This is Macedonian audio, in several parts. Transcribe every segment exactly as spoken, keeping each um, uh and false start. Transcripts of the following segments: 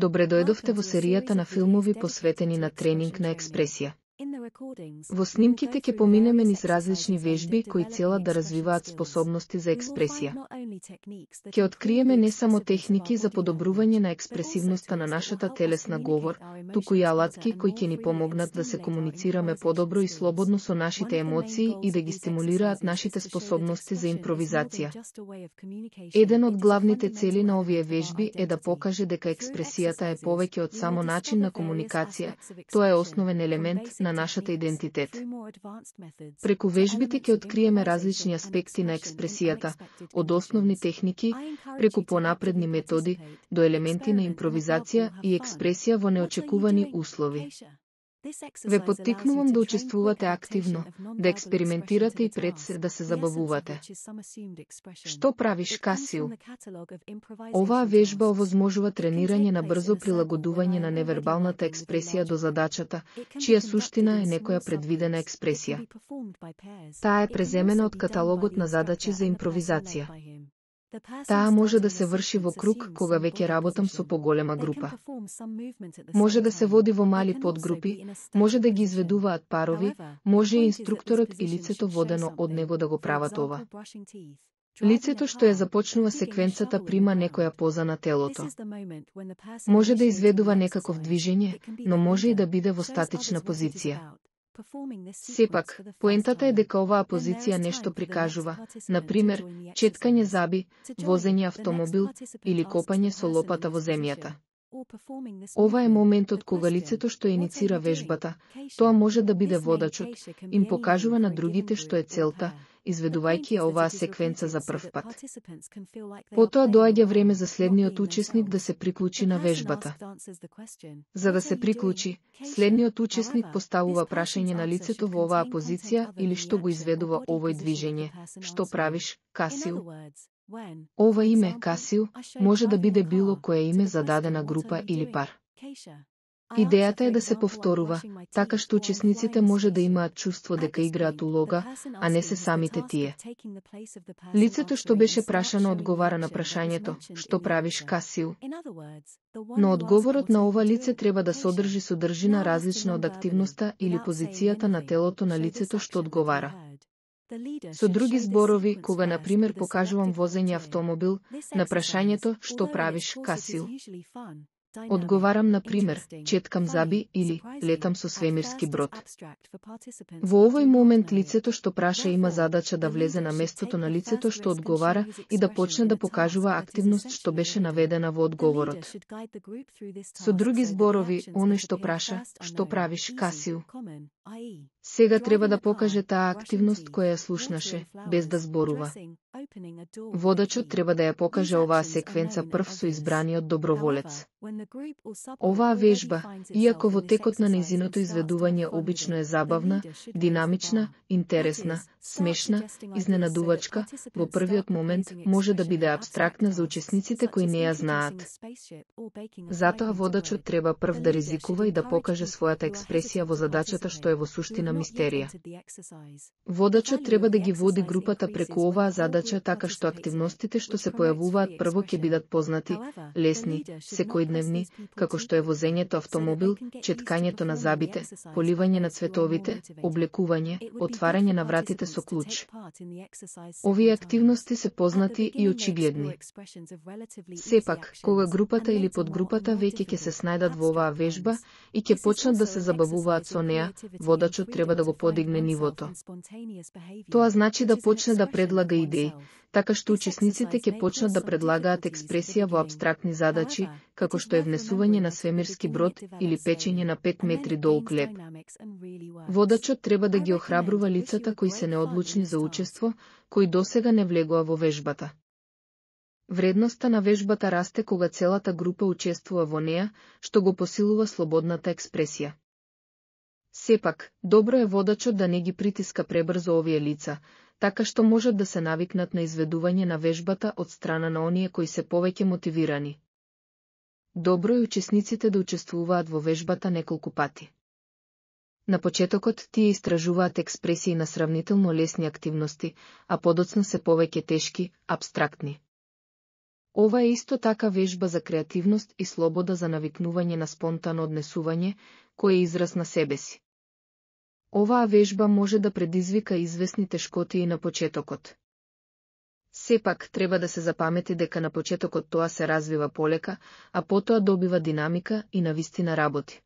Добре дојдовте во серијата на филмови посветени на тренинг на експресија. Во снимките ќе поминеме низ различни вежби кои целат да развиваат способности за експресија. Ќе откриеме не само техники за подобрување на експресивноста на нашата телесна говор, туку и алатки кои ќе ни помогнат да се комуницираме подобро и слободно со нашите емоции и да ги стимулираат нашите способности за импровизација. Еден од главните цели на овие вежби е да покаже дека експресијата е повеќе од само начин на комуникација, тоа е основен елемент на нашата идентитет. Преку вежбите ќе откриеме различни аспекти на експресијата, од основни техники, преку понапредни методи, до елементи на импровизација и експресија во неочекувани услови. Ве поттикнувам да учествувате активно, да експериментирате и пред се да се забавувате. Што правиш, Касију? Оваа вежба овозможува тренирање на брзо прилагодување на невербалната експресија до задачата, чија суштина е некоја предвидена експресија. Таа е преземена од каталогот на задачи за импровизација. Таа може да се врши во круг кога веќе работам со поголема група. Може да се води во мали подгрупи, може да ги изведуваат парови, може и инструкторот и лицето водено од него да го прават ова. Лицето што ја започнува секвенцата прима некоја поза на телото. Може да изведува некаков движење, но може и да биде во статична позиција. Сепак, поентата е дека оваа позиција нешто прикажува, например, четкање заби, возење автомобил или копање со лопата во земјата. Ова е моментот кога лицето што иницира вежбата, тоа може да биде водачот, им покажува на другите што е целта, изведувајќи ја оваа секвенца за прв пат. Потоа доаѓа време за следниот учесник да се приклучи на вежбата. За да се приклучи, следниот учесник поставува прашање на лицето во оваа позиција или што го изведува овој движење. Што правиш, Касију? Ова име, Касију, може да биде било кое име за дадена група или пар. Идејата е да се повторува, така што учесниците може да имаат чувство дека играат улога, а не се самите тие. Лицето што беше прашано одговара на прашањето, што правиш, Касију? Но одговорот на ова лице треба да содржи содржина различна од активноста или позицијата на телото на лицето што одговара. Со други зборови, кога на пример покажувам возење автомобил, на прашањето што правиш, Касију? Одговарам на пример, четкам заби или летам со свемирски брод. Во овој момент лицето што праша има задача да влезе на местото на лицето што одговара и да почне да покажува активност што беше наведена во одговорот. Со други зборови, оној што праша, што правиш, Касију? Сега треба да покаже таа активност која ја слушнаше, без да зборува. Водачот треба да ја покаже оваа секвенца прв со избраниот доброволец. Оваа вежба, иако во текот на нејзиното изведување обично е забавна, динамична, интересна, смешна, изненадувачка, во првиот момент може да биде абстрактна за учесниците кои не ја знаат. Затоа водачот треба прв да ризикува и да покаже својата експресија во задачата што е во суштина мистерија. Водачот треба да ги води групата преку оваа задача така што активностите што се појавуваат прво ќе бидат познати, лесни, секојдневни, како што е возењето автомобил, четкањето на забите, поливање на цветовите, облекување, отварање на вратите со клуч. Овие активности се познати и очигледни. Сепак, кога групата или подгрупата веќе ќе се снајдат во оваа вежба и ќе почнат да се забавуваат со неа, водачот треба да го подигне нивото. Тоа значи да почне да предлага идеи, така што учесниците ќе почнат да предлагаат експресија во абстрактни задачи, како што е внесување на свемирски брод или печење на пет метри долг леб. Водачот треба да ги охрабрува лицата кои се неодлучни за учество, кои досега не влегоа во вежбата. Вредноста на вежбата расте кога целата група учествува во неа, што го посилува слободната експресија. Сепак, добро е водачот да не ги притиска пребрзо овие лица, така што можат да се навикнат на изведување на вежбата од страна на оние кои се повеќе мотивирани. Добро е учесниците да учествуваат во вежбата неколку пати. На почетокот тие истражуваат експресии на сравнително лесни активности, а подоцна се повеќе тешки, абстрактни. Ова е исто така вежба за креативност и слобода за навикнување на спонтано однесување, кој е израз на себе си. Оваа вежба може да предизвика известни тешкотии на почетокот. Сепак, треба да се запамети дека на почетокот тоа се развива полека, а потоа добива динамика и навистина работи.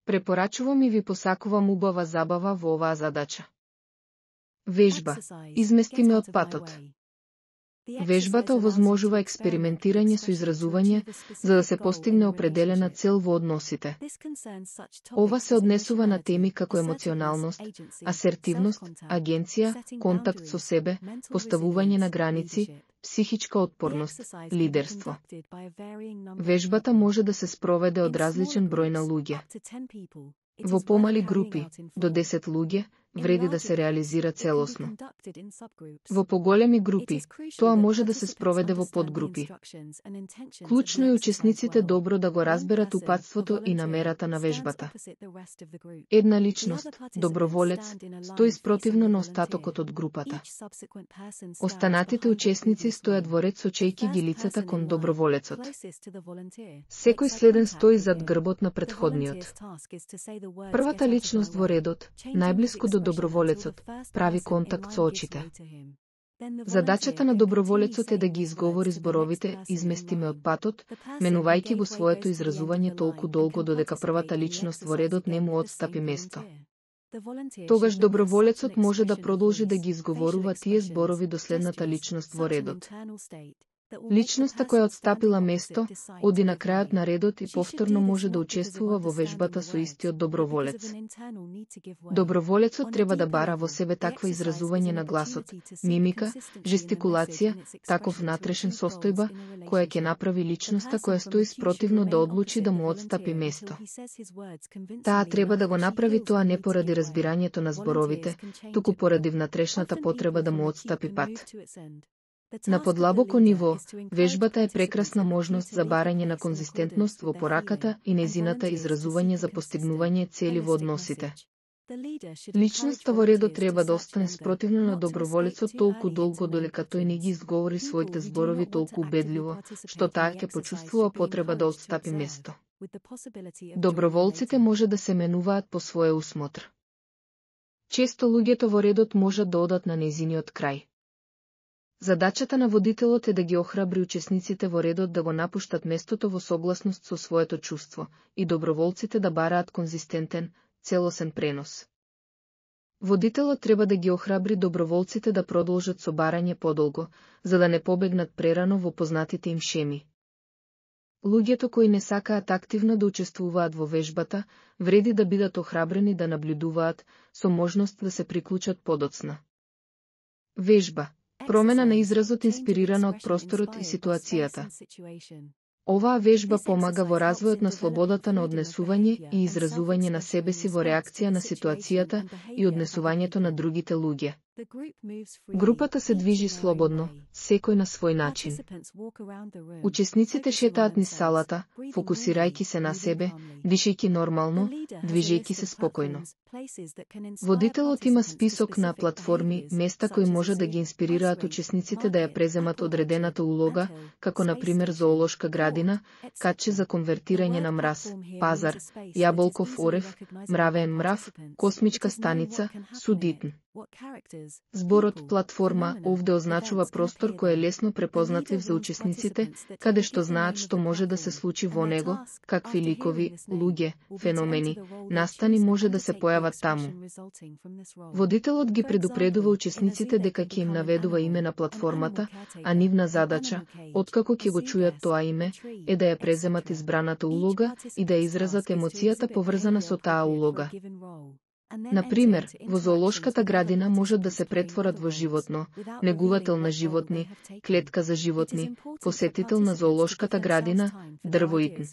Препорачувам и ви посакувам убава забава во оваа задача. Вежба. Измести ме од патот. Вежбата овозможува експериментирање со изразување, за да се постигне определена цел во односите. Ова се однесува на теми како емоционалност, асертивност, агенција, контакт со себе, поставување на граници, психичка отпорност, лидерство. Вежбата може да се спроведе од различен број на луѓе. Во помали групи, до десет луѓе, вреди да се реализира целосно. Во поголеми групи, тоа може да се спроведе во подгрупи. Клучно е учесниците добро да го разберат упатството и намерата на вежбата. Една личност, доброволец, стои спротивно на остатокот од групата. Останатите учесници стојат во ред сочејки ги лицата кон доброволецот. Секој следен стои зад грбот на претходниот. Првата личност во редот, најблиску до доброволецот, прави контакт со очите. Задачата на доброволецот е да ги изговори зборовите "измести ме од патот", менувајќи го своето изразување толку долго додека првата личност во редот не му отстапи место. Тогаш доброволецот може да продолжи да ги изговорува тие зборови до следната личност во редот. Личноста која отстапила место, оди на крајот на редот и повторно може да учествува во вежбата со истиот доброволец. Доброволецот треба да бара во себе таква изразување на гласот, мимика, жестикулација, таков внатрешен состојба, која ќе направи личноста која стои спротивно да одлучи да му отстапи место. Таа треба да го направи тоа не поради разбирањето на зборовите, туку поради внатрешната потреба да му отстапи пат. На подлабоко ниво, вежбата е прекрасна можност за барање на конзистентност во пораката и незината изразување за постигнување цели во односите. Личноста во редот треба да остане спротивно на доброволецот толку долго додека тој не ги изговори своите зборови толку убедливо, што таа ќе почувствува потреба да отстапи место. Доброволците може да се менуваат по свој усмотр. Често луѓето во редот можат да одат на незиниот крај. Задачата на водителот е да ги охрабри учесниците во редот да го напуштат местото во согласност со своето чувство и доброволците да бараат конзистентен, целосен пренос. Водителот треба да ги охрабри доброволците да продолжат со барање подолго, за да не побегнат прерано во познатите им шеми. Луѓето кои не сакаат активно да учествуваат во вежбата, вреди да бидат охрабрени да наблюдуваат, со можност да се приклучат подоцна. Вежба. Промена на изразот инспирирана од просторот и ситуацијата. Оваа вежба помага во развојот на слободата на однесување и изразување на себе си во реакција на ситуацијата и однесувањето на другите луѓе. Групата се движи слободно, секој на свој начин. Учесниците шетаат низ салата, фокусирајќи се на себе, дишејќи нормално, движејќи се спокојно. Водителот има список на платформи, места кои може да ги инспирираат учесниците да ја преземат одредената улога, како на пример зоолошка градина, катче за конвертирање на мраз, пазар, јаболков орев, мравен мрав, космичка станица, судитн. Зборот платформа овде означува простор кој е лесно препознатлив за учесниците, каде што знаат што може да се случи во него, какви ликови, луѓе, феномени, настани може да се појават таму. Водителот ги предупредува учесниците дека ќе им наведува име на платформата, а нивна задача, откако ќе го чујат тоа име, е да ја преземат избраната улога и да ја изразат емоцијата поврзана со таа улога. Например, во зоолошката градина можат да се претворат во животно, негувател на животни, клетка за животни, посетител на зоолошката градина, дрвоитн.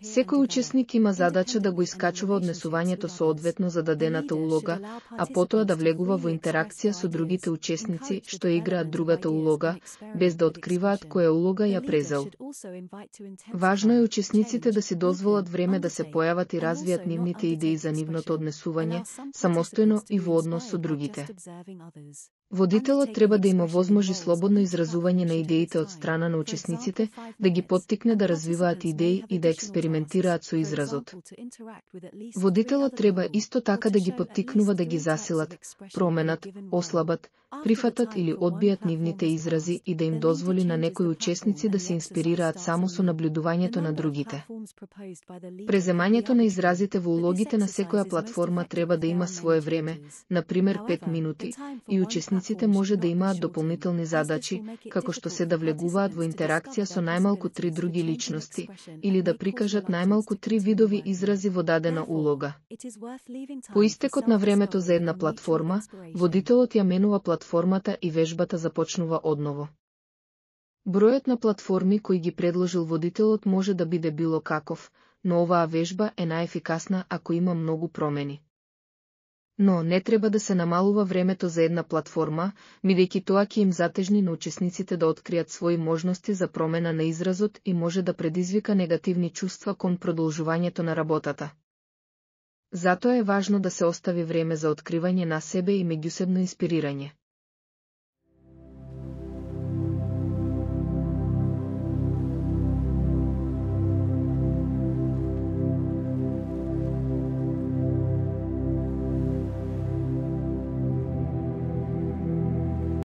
Секој учесник има задача да го искачува однесувањето соодветно за дадената улога, а потоа да влегува во интеракција со другите учесници што играат другата улога, без да откриваат која улога ја презел. Важно е учесниците да си дозволат време да се појават и развијат нивните идеи за нивното однесување, самостојно и во однос со другите. Водителот треба да има возможи слободно изразување на идеите од страна на учесниците, да ги поттикне да развиваат идеи и да експериментираат со изразот. Водителот треба исто така да ги поттикнува да ги засилат, променат, ослабат, прифатат или одбијат нивните изрази и да им дозволи на некои учесници да се инспирираат само со наблюдувањето на другите. Преземањето на изразите во улогите на секоја платформа треба да има свое време, например пет минути, и учесниците може да имаат дополнителни задачи, како што се да влегуваат во интеракција со најмалку три други личности, или да прикажат најмалку три видови изрази во дадена улога. По истекот на времето за една платформа, водителот ја менува платформата и вежбата започнува одново. Бројот на платформи кои ги предложил водителот може да биде било каков, но оваа вежба е најефикасна ако има многу промени. Но не треба да се намалува времето за една платформа, бидејќи тоа ќе им затежни на учесниците да откријат своји можности за промена на изразот и може да предизвика негативни чувства кон продолжувањето на работата. Затоа е важно да се остави време за откривање на себе и меѓусебно инспирирање.